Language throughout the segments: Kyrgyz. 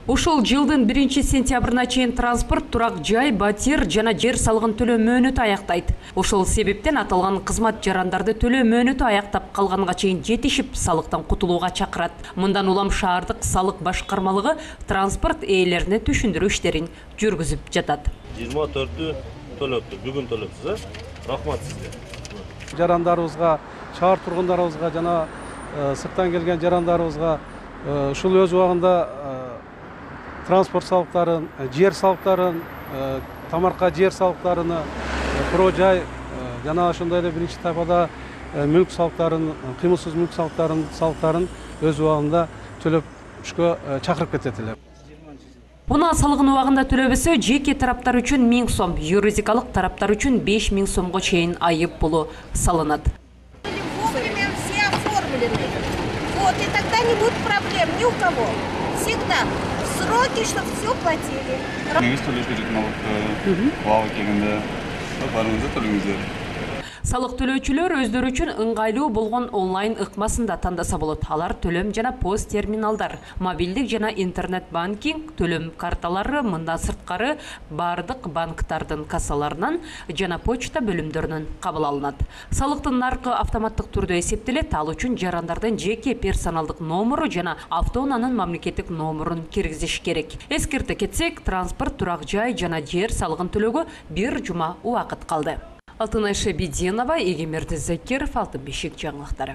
Ушул жылдын 1-сентябрына чейин транспорт, турак жай, батир жана жер салыгын төлөө мөөнөтү аяктайт. Ошол себептен аталган кызмат жарандарды төлөө мөөнөтү аяктап калганга чейин жетишип салыктан кутулууга чакырат. Мындан улам шаардык салык башкармалыгы транспорт ээлерине түшүндүрүү иштерин жүргүзүп жатат. 24-тү төлөптү, бүгүн төлөпсүз, рахмат сизге. Жарандарыбызга, шаар тургундарыбызга жана сырттан келген жарандарыбызга ушул өз убагында транспорт салыктарын, жер салыктарын, тамарка жер салыктарын, жай жана ошондой эле биринчи тайпада мүлк салыктарын, кыймылсыз мүлк салыктарын өз убагында төлөпүшкө чакырып кетет эле. Унаа салыгын убагында төлөбөсө, жеке тараптар үчүн 1000 сом, юридикалык тараптар үчүн 5000 сомго чейин айып пулу салынат. Вовремя все оформлены. Вот, и тогда не будет проблем ни у кого. Всегда в сроки, чтобы все платили. Негиз төлөш керек налогты убагы келгенде барыңыздар төлөңүздөр. Салык төлөөчүлөр өздөрү үчүн ыңгайлуу болгон онлайн ыкмасында тандаса болот. Алар төлөм жана пост терминалдар, мобилдик жана интернет банкинг, төлөм карталары, мындан сырткары бардык банктардын кассаларынан жана почта бөлүмдөрүнөн кабыл алынат. Салыктын наркы автоматтык түрдө эсептелет. Ал үчүн жарандардын жеке персоналдык номуру жана автоунаанын мамлекеттик номурун киргизиш керек. Эскерте кетсек, транспорт, турак жай жана жер салыгын төлөөгө 1 жума убакыт калды. Алтынай Шабидинова, Егемерди Закиров, Алтын бешик жаңылыктары.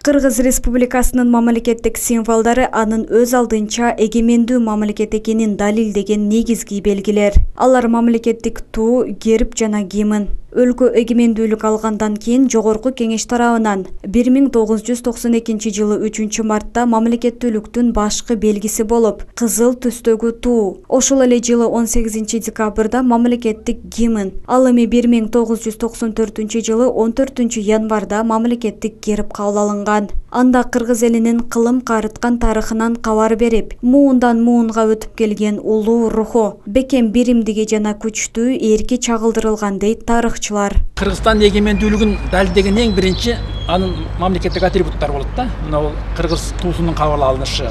Кыргыз Республикасынын мамлекеттик символдору анын өз алдынча эгемендүү мамлекет экенин далилдеген негизги белгилер. Алар мамлекеттик туу, герб жана гимн. Өлкө эгемендүүлүк алгандан кийин Жогорку Кеңеш тарабынан 1992 жылы 3 мартта мамлекеттүүлүктүн башкы белгиси болуп, кызыл түстөгү туу. Ошол эле жылы 18 декабрда мамлекеттик гимн. Ал эми 1994 жылы 14 январда мамлекеттик герб кабыл алынган. Анда кыргыз элинин кылым карыткан тарыхынан кабар берип, муундан муунга өтүп келген улуу руху, бекем биримдиги жана күчтүү эрки чагылдырылган дейт тарыхчылар. Кыргызстан эгемендүүлүгүн далилдеген эң биринчи анын мамлекеттик атрибуттары болот да. Мына кыргыз туусунун кабыл алынышы,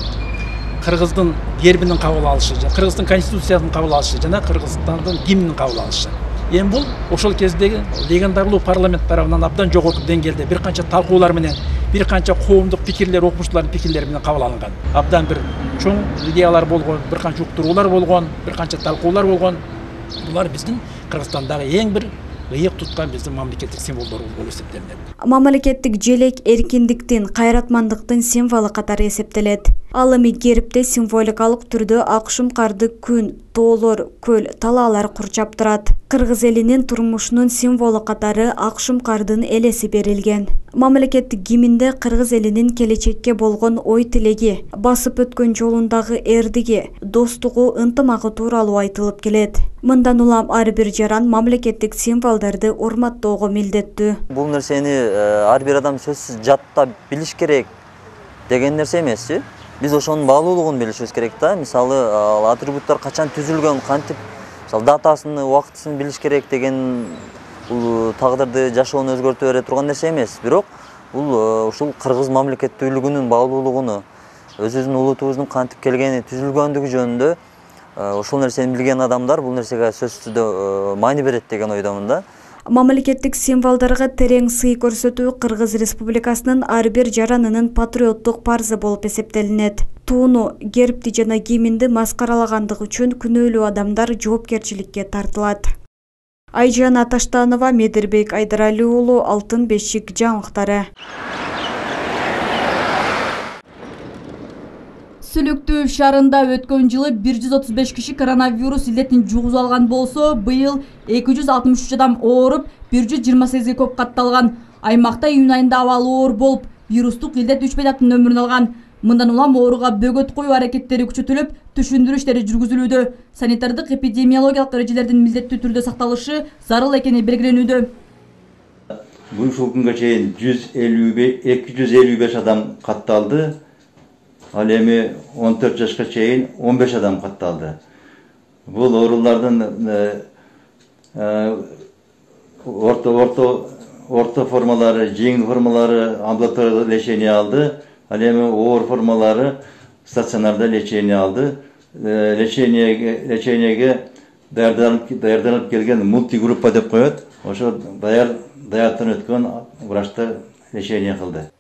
кыргыздын гербинин кабыл алышы, кыргыздын конституциясынын кабыл алышы жана кыргызстандын гимнин кабыл алышы. Эми бул ошол кездеги легендарлуу парламент тарабынан абдан жогорку деңгээлде бир канча талкуулар менен, бир канча коомдук пикирлер, окумуштуулардын пикирлери менен кабыл алынган. Абдан бир чоң идеялар болгон, бир канча уктуруулар болгон, бир канча талкуулар болгон. Булар биздин Кыргызстандагы эң бир ыйык туткан биздин мамлекеттик символдор болуп эсептелет. Мамлекеттик желек эркиндиктин, кайратмандыктын символу катары эсептелет. Ал эми гербте символикалык түрдө ак шумкарды күн, тоолор, көл, талаалар курчап турат. Кыргыз элинин турмушунун символу катары ак шумкардын элеси берилген. Мамлекеттик гимнде кыргыз элинин келечекке болгон ой тилеги, басып өткөн жолундагы эрдиги, достугу, ынтымагы тууралуу айтылып келет. Мындан улам ар бир жаран мамлекеттик символдорду урматтоого милдеттүү. Бул нерсени ар бир адам сөзсүз жаттап билиш керек деген нерсе эмес. Биз ошонун баалуулугун билишибиз керек да. Мисалы, атрибуттар качан түзүлгөн, кантип, мисалы датасын, убактысын билиш керек деген бул тагдырды, жашоону өзгөртө бере турган нерсе эмес. Бирок бул ушул кыргыз мамлекеттүүлүгүнүн баалуулугуну, өзүбүздүн улутубуздун кантип келгени, түзүлгөндүгү жөнүндө ошол нерсени билген адамдар бул нерсеге сөзсүз түрдө маани берет деген ойдомун да. Мамлекеттик символдорго терең сый көрсөтүү Кыргыз Республикасынын ар бир жаранынын патриоттук парзы болуп эсептелинет. Тууну, гербти жана гимнди маскаралагандыгы үчүн күнөөлүү адамдар жоопкерчиликке тартылат. Айжан Аташтанова, Медирбек Айдарали уулу, Алтын бешик жаңылыктары. Сүлүктүү шаарында өткөн жылы 135 киши коронавирус илдетин жугузуп алган болсо, быйыл 263 адам ооруп, 128ге көп катталган. Аймакта июнь айында абалы оор болуп, вирустук илдет 3 бейтаптын өмүрүн алган. Мындан улам ооруга бөгөт коюу аракеттери күчөтүлүп, түшүндүрүү иштери жүргүзүлүүдө. Санитардык эпидемиологиялык эрежелердин милдеттүү түрдө сакталышы зарыл экени белгиленүүдө. Ушул күнгө чейин 255 адам катталды. Ал эми 14 жашка чейин 15 адам катталды. Бул оорулардын орто формалары, жеңил формалары амбулаториялык лечение алды. Ал эми оор формалары стационарда лечение алды. Лечениеге даярданып келген мультигруппа деп коет. Ошо даяттан өткөн врачтар лечение кылды.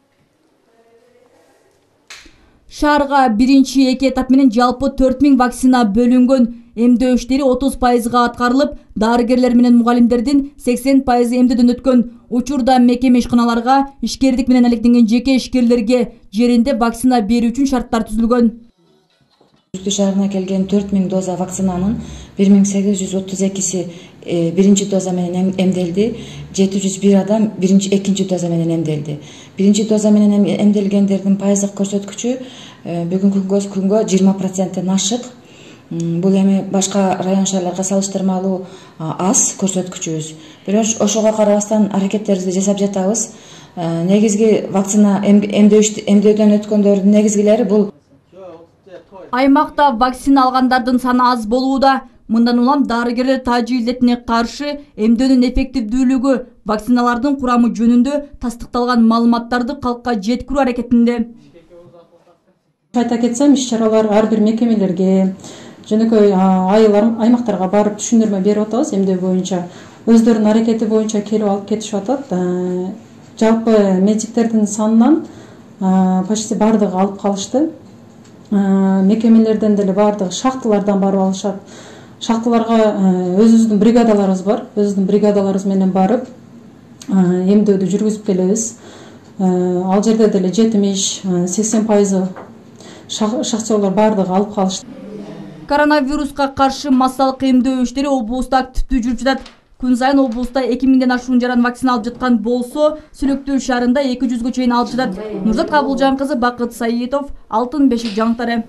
Шаарга биринчи эки этап менен жалпы 4000 вакцина бөлүнгөн. Эмдөө иштери 30% аткарылып, дарыгерлер менен мугалимдердин 80% эмдөөдөн өткөн. Учурда мекеме ишканаларга ишкердик менен алектенген жеке ишкерлерге жеринде вакцина берүү үчүн шарттар түзүлгөн. Үрүштү шаарына келген 4000 доза вакцинанын 1832си биринчи доза менен эмделди. 701 адам экинчи доза менен эмделди. Биринчи доза менен эмделгендердин пайыздык көрсөткүчү бүгүнкү күнгө 20%-тен ашык. Бул эми башка район шаарларга салыштырмалуу аз көрсөткүчүбүз. Бирок ошого карабастан аракеттерибизди жасап жатабыз. Негизги вакцина эмдөөдөн өткөндөрдүн негизгилери бул. Аймакта вакцина алгандардын саны аз болууда. Мындан улам дарыгерлер тажы илдетине каршы эмдөөнүн эффективдүүлүгү, вакциналардын курамы жөнүндө тастыкталган маалыматтарды калкка жеткирүү аракетинде. Айта кетсем, иш-чаралар ар бир мекемелерге, жөнөкөй айылдар, аймактарга барып түшүндүрмө берип атабыз. Эмдөө боюнча өздөрүнүн аракети боюнча келип алып кетишип атат. Жалпы медиктердин санынан почти бардыгы алып калышты. Мекемелерден деле бардыгы шахталардан барып алышат. Шахталарга өзүбүздүн бригадаларыбыз бар. Өзүбүздүн бригадаларыбыз менен барып эмдөөдү жүргүзүп келебиз. Ал жерде деле 70-80% шахтерлор бардыгы алып калышты. Коронавируска каршы массалык эмдөө иштери облуста активдүү жүрүп жатат. Күн сайын облуста 2000ден ашуун жаран вакцина алып жаткан болсо, Сүлөктүү шаарында 200гө чейин алып жатат. Нурзат Кабылжан кызы, Бакыт Саитов, Алтын бешик жаңылыктары.